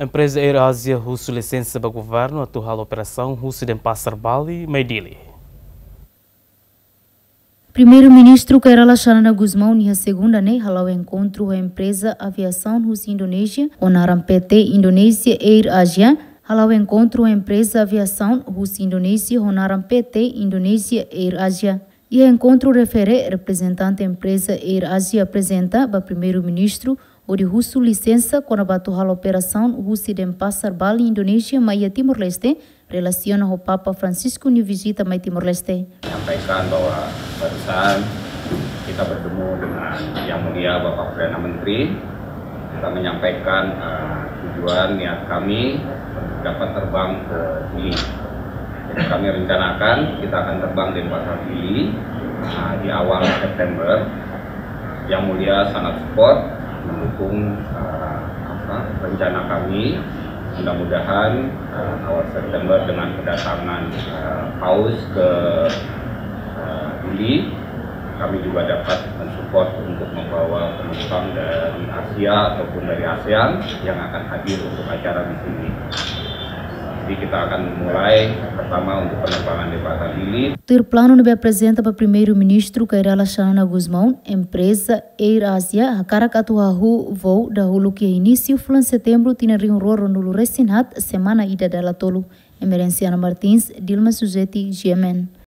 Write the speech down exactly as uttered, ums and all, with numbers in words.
Empreza Air Asia husu lisensa ba governu atu halo operasaun husi Denpasar Bali mai Dili. Primeiru-Ministru Kay Rala Xanana Gusmão ninia segunda ne'e hala'o enkontru ho empreza aviasaun husi Indonézia ho naran P T Indonesia Air Asia. Hala'o enkontru ho empreza aviasaun husi Indonézia ho naran P T Indonesia Air Asia. Iha enkontru refere, reprezentante empreza Air Asia aprezenta ba Primeiru-Ministru hodi husu lisensa kona-ba atu halo operasaun husi Denpasar Bali Indonézia mai iha Timor-Leste, relasiona ho Papa Francisco nia vizita mai Timor-Leste. Menyampaikan bahwa barusan kita bertemu dengan Yang Mulia Bapak Perdana Menteri. Kita menyampaikan, eh, tujuan niat kami untuk dapat terbang ke Dili. Jadi kami rencanakan kita akan terbang Denpasar Dili, eh, di awal September. Yang Mulia sangat support, mendukung, eh, apa, rencana kami. Mudah-mudahan, eh, awal September dengan kedatangan, eh, Paus ke, eh, Dili, kami juga dapat mensupport untuk membawa penumpang dari Asia ataupun dari ASEAN yang akan hadir untuk acara di sini. Jadi kita akan mulai pertama untuk penerbangan Denpasar Dili. Tuir planu ne'ebé aprezenta ba Primeiru-Ministru Kay Rala Xanana Gusmão, empreza Air Asia hakarak atu hahú voo dahuluk iha inísiu fulan Setembru tinan rihun rua ruanulu resin haat, semana ida dala tolu. Emerenciana Martins, Dilma Suzeti, G M N.